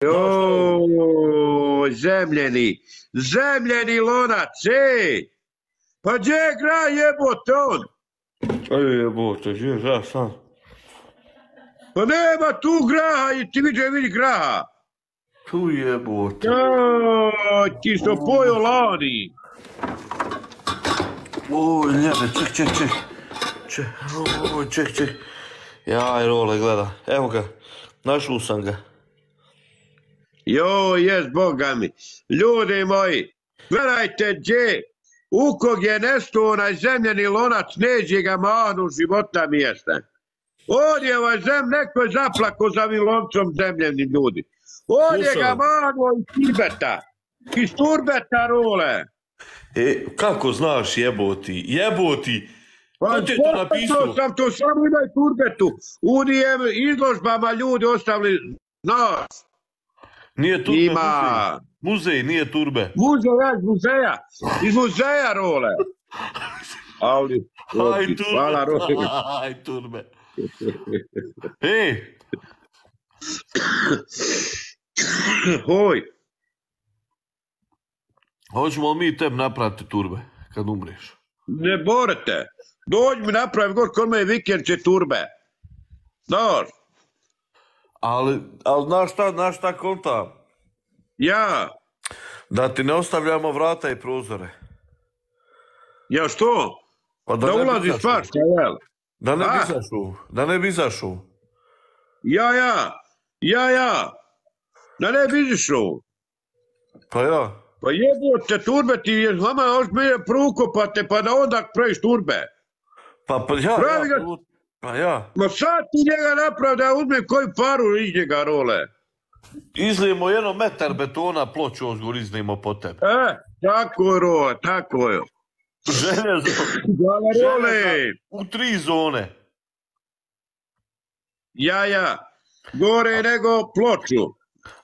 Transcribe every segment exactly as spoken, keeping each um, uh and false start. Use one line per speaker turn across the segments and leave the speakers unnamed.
Joj, zemljeni, zemljeni lonac, ej! Pa gdje je gra jebote on?
Ej jebote, gdje je gra sam?
Pa nema tu graha i ti vidi, vidi graha.
Tu jebote.
Joj, ti što pojo lani.
Oj, ljebe, ček, ček, ček. Ček, oj, ček, ček. Jaj, Role, gleda. Evo ga, našao sam ga.
Joj, jes, boga mi. Ljudi moji, gledajte gdje, u kog je nestao onaj zemljeni lonac, neđe ga mahnu života mjesta. On je ovaj zem, neko je zaplako za ovim loncom zemljenim ljudi. On je ga mahnuo iz Tibeta, iz Turbeta, Role.
E, kako znaš jeboti, jeboti?
Pa to sam to samo ima i Turbetu. U nijem izložbama ljudi ostavili, znaš.
Nije Turbe
Ima.
muzej. Muzej, nije Turbe.
Muzej, ja, iz muzeja. Iz muzeja, Role. Ali,
Aj, Turbe.
hvala, Role.
Aj, Turbe. Ej.
Hoj.
Hoćemo li mi tebi napraviti Turbe kad umriješ?
Ne borite. Dođi mi napravi god kod me vikend će Turbe. Znaš.
Ali, ali znaš šta, znaš šta konta?
Ja.
Da ti ne ostavljamo vrata i prozore.
Ja što?
Pa
da ulazi svašta, jel?
Da ne bi izašao, da ne bi izašao.
Ja, ja, ja, ja. Da ne bi izašao.
Pa ja.
Pa jebote, Turbe ti je vama još me prukopate pa da onda praviš Turbe.
Pa, pa ja,
Pravi
ja,
ga...
pa ja.
Ma sad ti njega napravi da uzme koju paru iz njega, Role.
Izlijemo jedno metar betona, ploču ozgor iznijemo po tebe.
E, tako je, Role, tako je.
Željezo.
Role.
U tri zone.
Ja, ja. Gore nego ploču.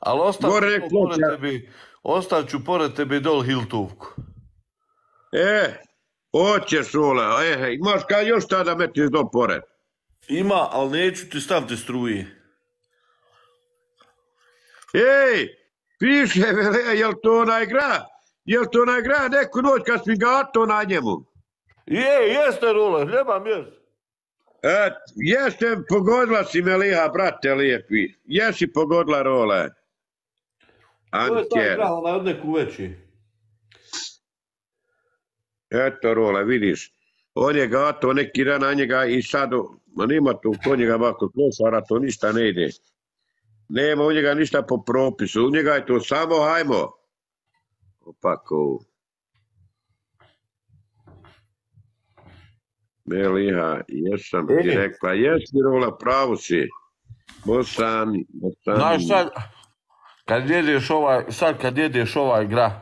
Ali ostaću pored tebi, ostaću pored tebi dol Hiltovku.
E, hoćeš, Role. E, imaš kaj još tada metiš dol pored?
Ima, ali neću ti staviti struje.
Ej, piše, jel to onaj gra? Jel to onaj gra neku noć kad si gato na njemu?
Je, jeste, Role, nemam jest.
E, jeste, pogodila si me liha, brate lijepi. Jesi pogodila, Role.
To je taj gra, onaj od neku veći.
Eto, Role, vidiš. On je gato neki dan na njega i sad, ma nima tu kod njega bako klošara, to ništa ne ide. Nema u njega ništa po propisu, u njega je to samo hajmo. Opako. Meliha, jesam ti rekla, jesi, Rola, pravo si. Bosani, Bosani.
Znaš sad, kad jedeš ovaj, sad kad jedeš ovaj gra.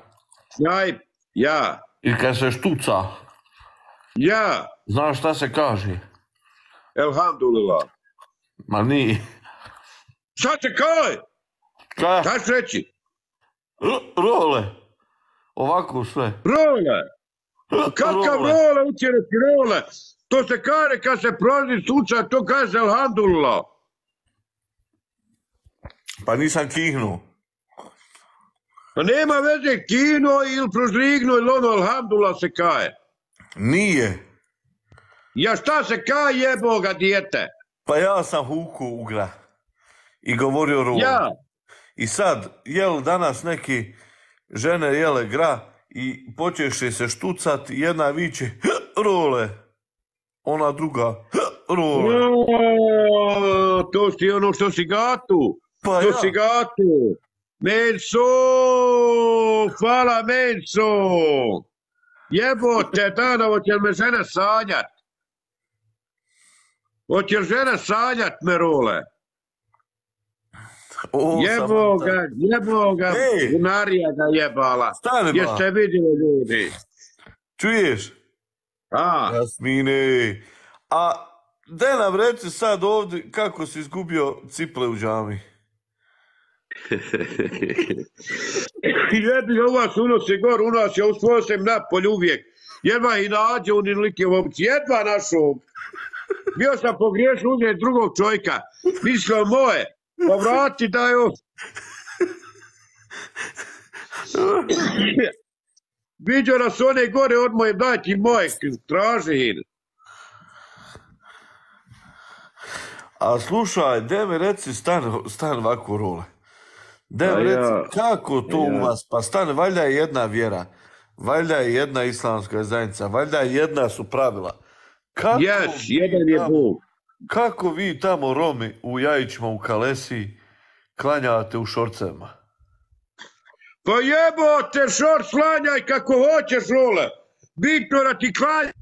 Jaj, ja.
I kad se štuca.
Ja.
Znaš šta se kaže?
Elhamdulillah.
Ma nije.
Šta se kaj?
Kaj?
Šta ću reći?
Role. Ovako sve.
Role. Kakav Role, učeneci Role? To se kaže kad se prolazi suca, to kaže Elhamdulillah.
Pa nisam kihnuo.
Pa nema veze kino ili prožligno ili ono Elhamdulillah se kaje.
Nije.
Ja šta se kaj jeboga dijete?
Pa ja sam huku ugra. I govorio Role.
Ja.
I sad, jel danas neki žene jele gra i počeše se štucat, jedna viče Role. Ona druga Role.
O, to si ono što si gatu.
Pa
to
ja.
si gatu. Menso, hvala Menso. Jebote, dana, hoće li me žena sanjat? Hoće li žena sanjat me, Role?
O,
jebo ga, jebo ga, bunarija ga jebala.
Stane ba.
Jeste vidjeli ljudi?
Čuješ?
A?
Jasmine. A de nam reci sad ovdje kako si izgubio ciple u džami.
Jebi ga, u vas unosi gor, u nas je usvojio sam napolj uvijek. Jedva i nađe u nilike ovci, jedva našao. Bio sam pogriješio uzeti drugog čovjeka. Mislio moje, pa vrati daj ovo. Vidio nas one gore, odmah im daj ti moje, traži ih.
A slušaj, de mi reci, stan, stan ovako role. De mi reci,
ja.
kako to u vas? Pa stan, valjda je jedna vjera, valjda je jedna islamska zajednica, valjda je jedna su pravila. Kako
Yes, jedan je
tamo,
Bog.
kako vi tamo Romi u Jajićima u Kalesiji klanjate u šorcevima?
Pa jebote, šort slanjaj kako hoćeš, role. Bitno da ti klanjaj,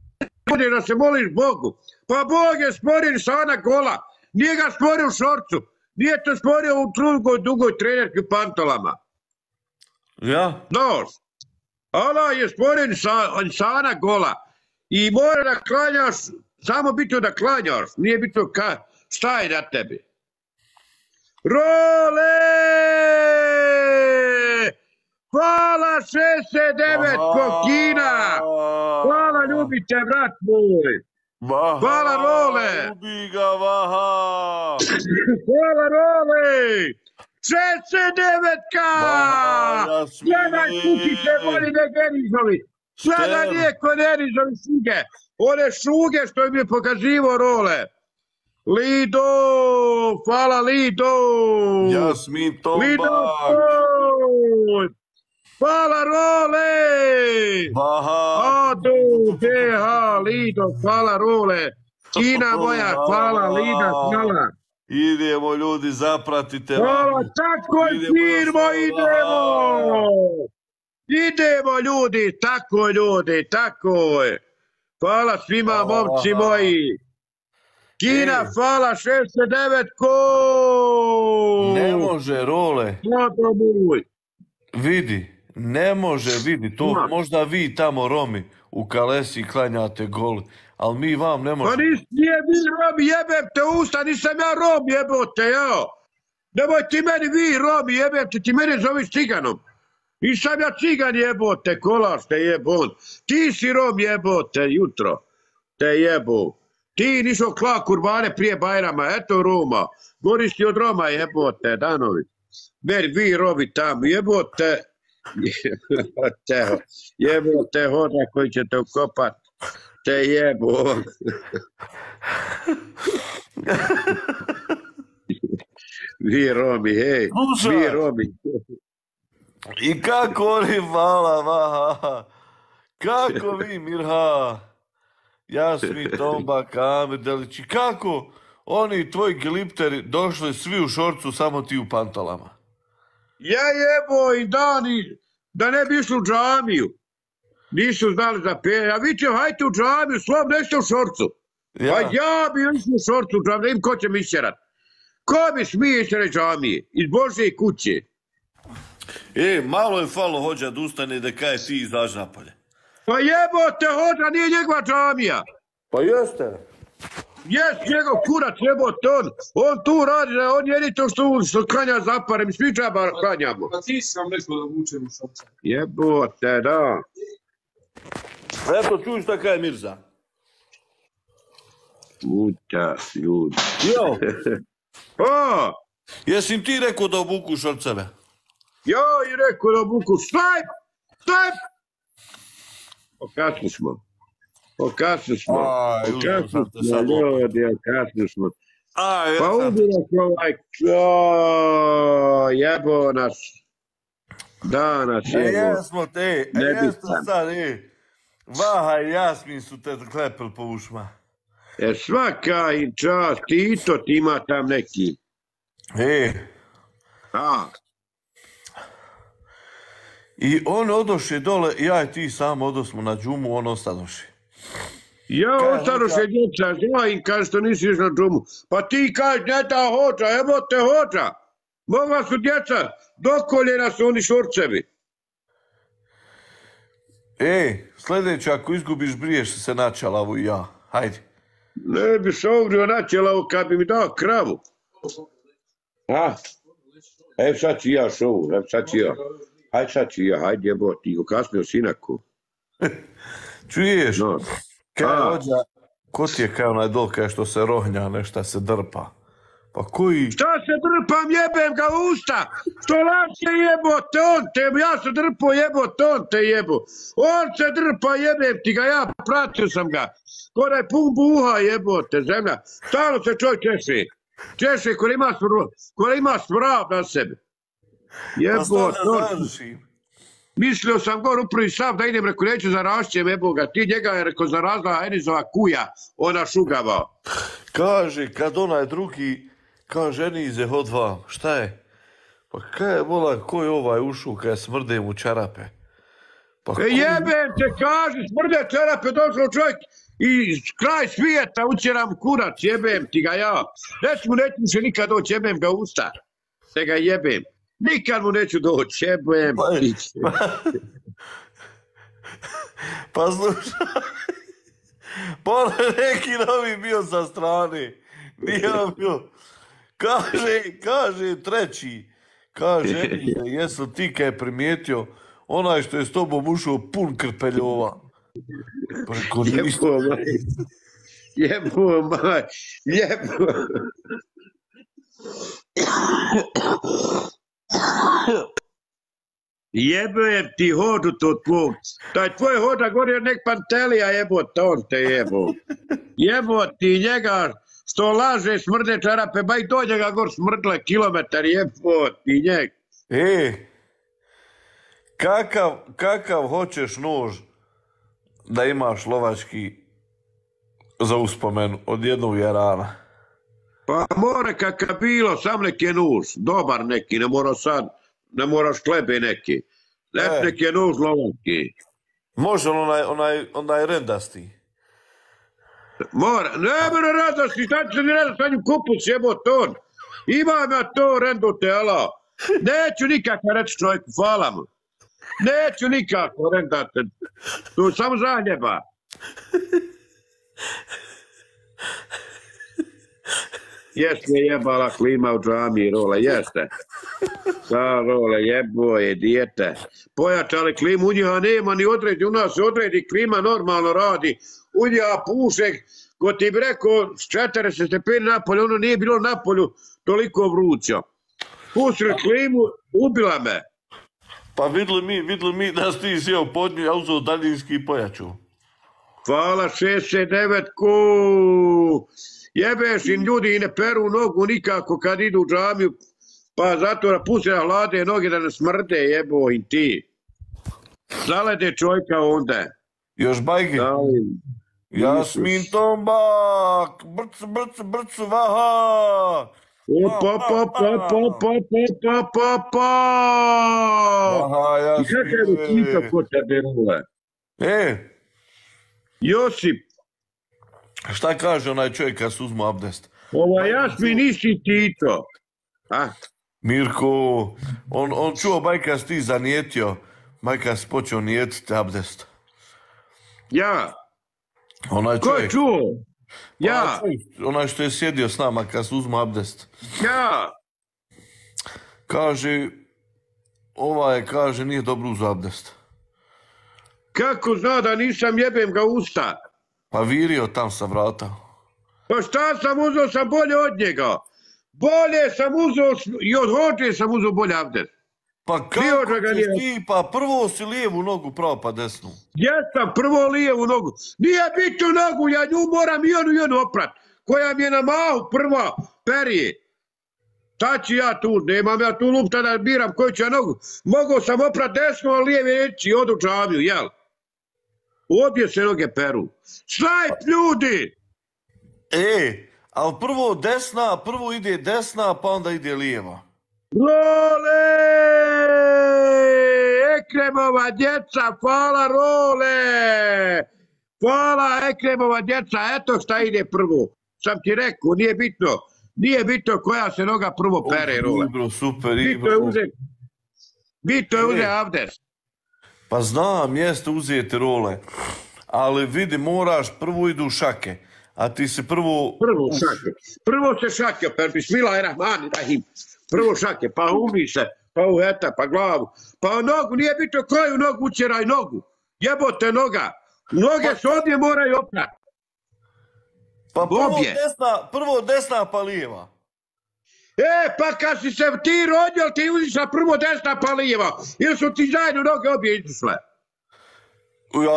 da se moliš Bogu. Pa Bog je stvorio sana gola. Nije ga stvorio u šorcu. Nije to stvorio u drugoj, dugoj trenerki u pantolama.
Ja?
Znaš, Allah je stvorio insana gola. I mora da klanjaš, samo bitno da klanjaš. Nije bitno ka, šta je na tebi. Role! Hvala šezdeset devet kokina! Hvala, ljubite, brat moj! Hvala, Role!
Ljubi ga, Vaha!
Hvala, Role! šezdeset devetka! Gledaj, kukice, voli ne Denizovi! Gledaj, nije ko Denizovi šuge! One šuge što im je pokazivo, Role! Lido! Hvala, Lido!
Jasmin Tombak!
Lido! Hvala, Role!
Vaha!
Ado, Beha, Lido, hvala, Role! Kina moja, hvala, Lida, hvala!
Idemo, ljudi, zapratite.
Hvala, tako je, firmo, idemo! Idemo, ljudi, tako ljudi, tako je! Hvala svima, momci moji! Kina, hvala, šezdeset devet ko!
Ne može, Role.
Hvala, moj!
Vidi, ne može, vidi, to možda vi tamo Romi u Kalesiji klanjate gol, ali mi vam ne možemo.
Pa nije vi Romi, jebem te usta, nisam ja Rom, jebote, jao. Nemoj ti meni vi Romi, jebem te, ti mene zoveš ciganom. Nisam ja cigan, jebote, kolaš te jebon. Ti si Rom, jebote, jutro, te jebo. Ti nisu kla kurbane prije Bajrama, eto Roma. Goristi od Roma, jebote, Danovi. Meni vi Romi tamo, jebote. Jebote, jebote, hoda koji ćete ukopat. Te jebo. Vi Romi, hej. Vi Romi.
I kako oni, hvala, Vaha. Kako vi, Mirha. Jasmin Tombak, Amir Delić. I kako oni tvoji glipteri došli svi u šorcu, samo ti u pantalama?
Ja jebo i dani, da ne bi išli u džamiju. Nisu znali za pije. Ja vidio, hajte u džamiju, slom, nešte u šorcu.
Ja.
Pa ja bi išli u šorcu u džamiju, da im ko će mi išćerat. Ko mi smije išćerat džamije? Iz Božje kuće.
E, malo je falo hođa da ustane da kaj ti izađi napolje.
Pa jebote, hođa, nije njegova džamija.
Pa jeste.
Jes, njegov kurac, jebote, on, on tu radi, on jedni to što, što klanja zapare, mi svi džaba klanjamo.
Pa ti si nam rekao da vučem u šorca.
Jebote, da.
Eto, čuj šta kaj Mirza.
Puta, ljudi.
Jo,
O,
jesi im ti rekao da obuku šorceve?
jo, i rekao da buku, staj, staj. Okasni smo. Okasni smo.
Aj,
Okasni
užasno te
smo,
sad
ljudi, okasni smo.
Aj,
Pa
jesam.
ubilo se ovaj, o, jebo nas. Da nas
E,
jebo.
jesmo te, e,
Ne
jesmo
bitan.
sad, e. Vaha i Jasmin su te klepili po ušma.
E, svaka im čast, Tito ti ima tam neki.
E,
A,
i on odoše dole, ja i ti sam odosmo na džumu, on ostadoše.
ja
Kaj,
ostadoše djeca, zna im kaže što nisi iš na džumu. Pa ti kaže, njeta hođa, evo te hođa. Mogla su djeca, dokoljena su oni šorcevi.
E, sljedeće, ako izgubiš, briješ se na čalavu i ja. Hajde.
Ne bi se ovrio načela kad bi mi dao kravu. A, evo sad ću ja šovu, evo sad ću ja. Hajde sad ću ja, hajde jebo, ti go kasnio sinaku.
Čuješ?
No.
Kaj
A.
hođa, ko ti je kaj onaj dol, kaj što se rohnja, nešta se drpa? Pa koji?
Šta se drpam, jebem ga u usta? Što laže jebote, on te, ja se drpo jebote, on te jebo. On se drpa, jebem ti ga, ja pratio sam ga. Kora je pun buha jebote, zemlja. Stalno se čovjek češe. Češe ko ima, ko ima smrav na sebe. Jebote, on... Mislio sam gore u prvi sav da idem, reko neću zarašćem jeboga. Ti njega je reko zarazla Enizova kuja, ona šugava.
Kaže, kad onaj drugi, kaže Enize, hod vam, šta je? Pa kaj je, vola, ko je ovaj ušao kada smrde mu čarape? Pa
e jebem te, kaže, smrde čarape, došao čovjek i kraj svijeta ućeram kurac, jebem ti ga ja. Reć mu neću se nikad doći, jebem ga usta. Te ga jebem. Nikad mu neću doći, jebem ti.
Pa, pa slušaj, pa neki novi bio sa strane. Nije bio. Kaže, kaže treći, kaže, jesu ti kaj je primijetio onaj što je s tobom ušao pun krpeljova.
Jebo maj, jebo maj, jebo. Jebem ti hodu to tvoj. Taj tvoj hoda gori od nek pantelija jebo, on te jebo. Jebo ti njega što laže smrde čarape, ba i dođe ga gor smrdle kilometar, jebo ti njeg.
E, kakav, kakav hoćeš nož da imaš lovački za uspomenu od jednog jarana?
Pa mora kakav bilo, sam neki nuž, dobar neki, ne mora sad, ne moraš klebe neki. Nek e. neki nuž lovački.
Može li onaj, onaj, onaj rendasti?
Mora, ne mora rendasti, šta će se mi redati sa njim kupus jebo ton. Imam ja to rendote, ala. Neću nikako reći čovjeku, hvala mu. Neću nikako rendati. Tu samo zaljeba. Jeste jebala klima u džami, Role, jeste. Da, Role, jebo je dijete. Pojačali klimu, u njiha nema ni odredi, u nas se odredi, klima normalno radi. U njiha pušek, ko ti bi rekao, s četrdeset stepeni napolju, ono nije bilo napolju toliko vruća. Pustili klimu, ubila me.
Pa vidli mi, vidli mi da si ti sjeo pod nju, ja uzeo daljinski pojaču.
Hvala, šezdeset devet ku. Jebeš im ljudi i ne peru nogu nikako kad idu u džamiju, pa zato da puste na hlade noge da ne smrde, jebo im ti. Zalede čovjeka onda.
Još bajke. Jasmin Tombak, brc, brc, brc, vaha.
Pa, pa, pa, pa, pa, pa, pa, pa, pa.
Aha, Jasmin.
I kako je slika ko tebe rule?
E.
Josip.
Šta kaže onaj čovjek kad se uzmu abdest?
Ova Jasmin nisi Tito. A?
Mirko, on, on čuo bajka si ti zanijetio, bajka si počeo nijetiti abdest.
Ja.
Onaj
Ko je čuo? Ja.
Onaj, onaj što je sjedio s nama kad se uzmu abdest.
Ja.
Kaže, ovaj kaže nije dobro uz abdest.
Kako zna da nisam, jebem ga usta?
Pa virio tam sa vrata.
Pa šta sam uzeo, sam bolje od njega. Bolje sam uzeo, i od hođe sam uzeo bolje abdest.
Pa kako ćeš ti, pa prvo si lijevu nogu pravo pa desnu.
Jesam, prvo lijevu nogu. Nije bitno nogu, ja nju moram i onu i onu oprat. Koja mi je na mahu prva perije. Šta ću ja tu, nemam ja tu lupta da biram koju ću ja nogu. Mogao sam oprat desnu, a lijeve reći i odu u džamiju, jel? Obje se noge peru. Snajp ljudi!
E, ali prvo desna, prvo ide desna, pa onda ide lijeva.
Role! Ekremova djeca, hvala Role! Hvala Ekremova djeca, eto šta ide prvo. Sam ti rekao, nije bitno, nije bitno koja se noga prvo pere, Role.
Ibro, super,
bitno je uzeti, bitno je uzeti abdest.
Pa znam, jeste uzeti Role, ali vidi, moraš, prvo idu šake, a ti se prvo...
Prvo šake, prvo se šake, per bismillahirrahmanirrahim, prvo šake, pa umi se, pa uheta, pa glavu, pa nogu, nije bitno koju nogu, učeraj nogu, jebote noga, noge se ovdje moraju oprati.
Pa prvo desna, prvo desna pa lijeva.
E, pa kad si se ti rodio, ti uzišla prvo desna pa lijeva. Ili su ti zajedno noge obje izišle?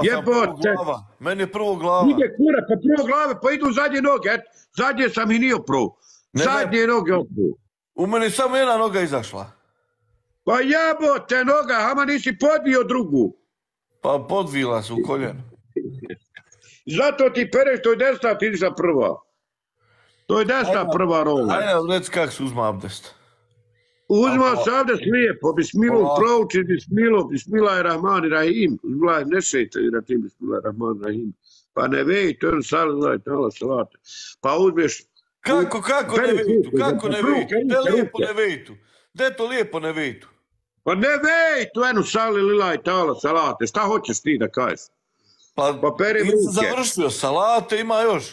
Ja sam prvo glava. Meni je prvo glava.
Ide kura, pa prvo glave, pa idu zadnje noge. Et, zadnje sam i nije prvo. Zadnje ne, noge opru.
U meni samo jedna noga izašla.
Pa jabote noga, ama nisi podvio drugu.
Pa podvila se u koljenu.
Zato ti pereš, to je desna, ti izišla prva. To je desna ajde, prva rola.
Ajde, reci kako se uzma abdest.
Uzma se abdest lijepo, bismilu, prouči bismilu, bismillahirrahmanirrahim, bismillahirrahmanirrahim, bismillahirrahmanirrahim. Pa ne vej, to je sallallahu ta'ala salate. Pa uzmeš...
Kako, kako ne vejtu, kako ne vejtu, gde lijepo ne vejtu, gde to lijepo ne vejtu?
Pa ne vejtu, eno sallallahu ta'ala salate, šta hoćeš ti da kažeš?
Pa, pa peri ruke. Nisam završio salate, ima još.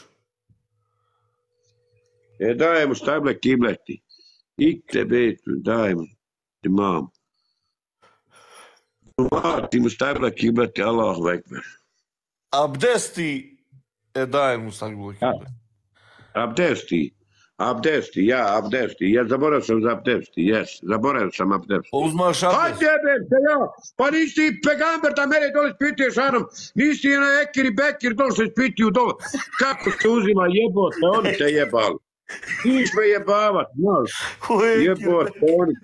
E dajemo stable kibleti. İkte beytü daim imam. Umati mustabla kibleti Allahu ekber.
Abdesti e daim mustabla kibleti.
Abdesti. Abdesti, ja, abdesti. Ja zaboravio sam za abdesti, jes. Zaboravio sam abdesti.
Uzmaš abdest.
Hajde, bebte, ja. Pa nisi pegamber da mene dole spituješ, Anom. Nisi na ekir i bekir dole se spituju dole. Kako se uzima jebote, oni te jebali. Ti me jebavat, znaš, jebote, oni.